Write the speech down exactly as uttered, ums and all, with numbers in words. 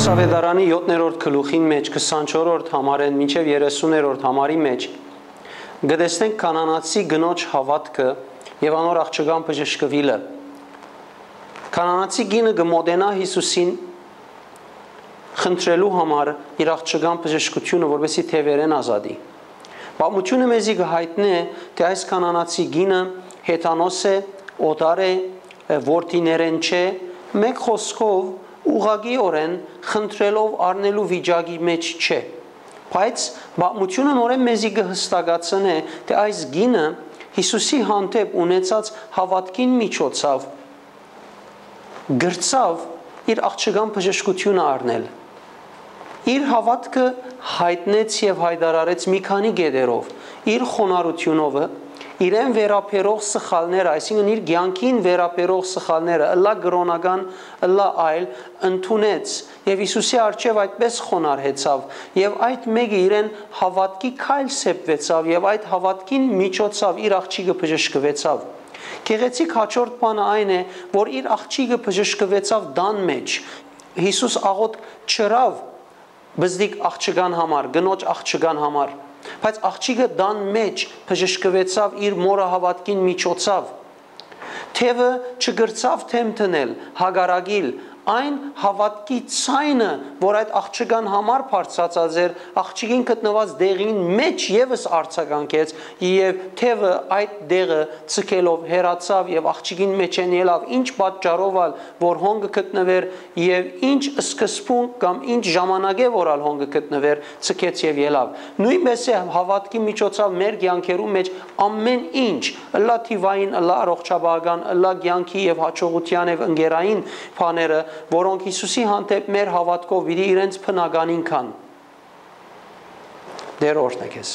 Ավետարանի յոթերորդ գլուխին մէջ, քսանչորսերորդ համարէն մինչեւ երեսուներորդ համարի մէջ, կը տեսնենք Կանանացի կնոջ հաւատքը եւ անոր աղջկան բժշկուիլը։ Կանանացի կինը կը մոտենայ Յիսուսին խնդրելու համար իր աղջկան բժշկութիւնը, որպեսզի թեւերէն ազատի։ Պատմութիւնը մեզի կը յայտնէ, թէ այս կանանացի կինը հեթանոս է, օտար է, որդիներէն չէ, մէկ խօսքով, ուղղակիօրէն խնդրելով առնելու վիճակի մէջ չէ։ Բայց պատմութիւնը նորէն մեզի կը յստակացնէ, թէ այս կինը Յիսուսի հանդէպ ունեցած հաւատքին միջոցաւ կրցաւ իր աղջկան բժշկութիւնը առնել։ Իր հաւատքը յայտնեց եւ յայտարարեց մի քանի կետերով, իր խոնարհութիւնովը, իրեն վերաբերող սխալները, այսինքն՝ իր կեանքին վերաբերող սխալները, ըլլայ կրօնական, ըլլայ այլ, ընդունեց եւ Յիսուսի առջեւ այդպէս խոնարհեցաւ, եւ այդ մէկը իրեն հաւատքի քայլ սեպուեցաւ եւ այդ հաւատքին միջոցաւ իր աղջիկը բժշկուեցաւ։ Գեղեցիկ հաջորդ բանը այն է, որ իր աղջիկը բժշկուեցաւ տան մէջ։ Յիսուս աղօթք չըրաւ բզդիկ աղջկան համար, կնոջ աղջկան համար, բայց աղջիկը տան մէջ բժշկուեցաւ իր մօրը հաւատքին միջոցաւ։ Թեւը չկրցաւ դէմ դնել, հակառակիլ, այն հաւատքի ցայնը, որ այդ աղջկան համար բարձրացած էր, աղջիկին գտնուած տեղին մէջ եւս արձագանքեց եւ թեւը այդ տեղը ձգելով հեռացաւ եւ աղջիկին մէջէն ելաւ, ինչ պատճառով ալ որ հոն կը գտնուէր եւ ինչ սկզբունք կամ ինչ ժամանակէ որ ալ հոն կը գտնուէր, ձգեց եւ ելաւ։ Նոյնպէս է հաւատքի միջոցաւ մեր կեանքերու մէջ ամէն ինչ, ըլլայ թիւային, ըլլայ առողջապահական, ըլլայ կեանքի եւ յաջողութեան եւ ընկերային բաները, որոնք Յիսուսի հանդէպ մեր հաւատքով պիտի իրենց բնականին գան։ Տէր օրհնէ քեզ։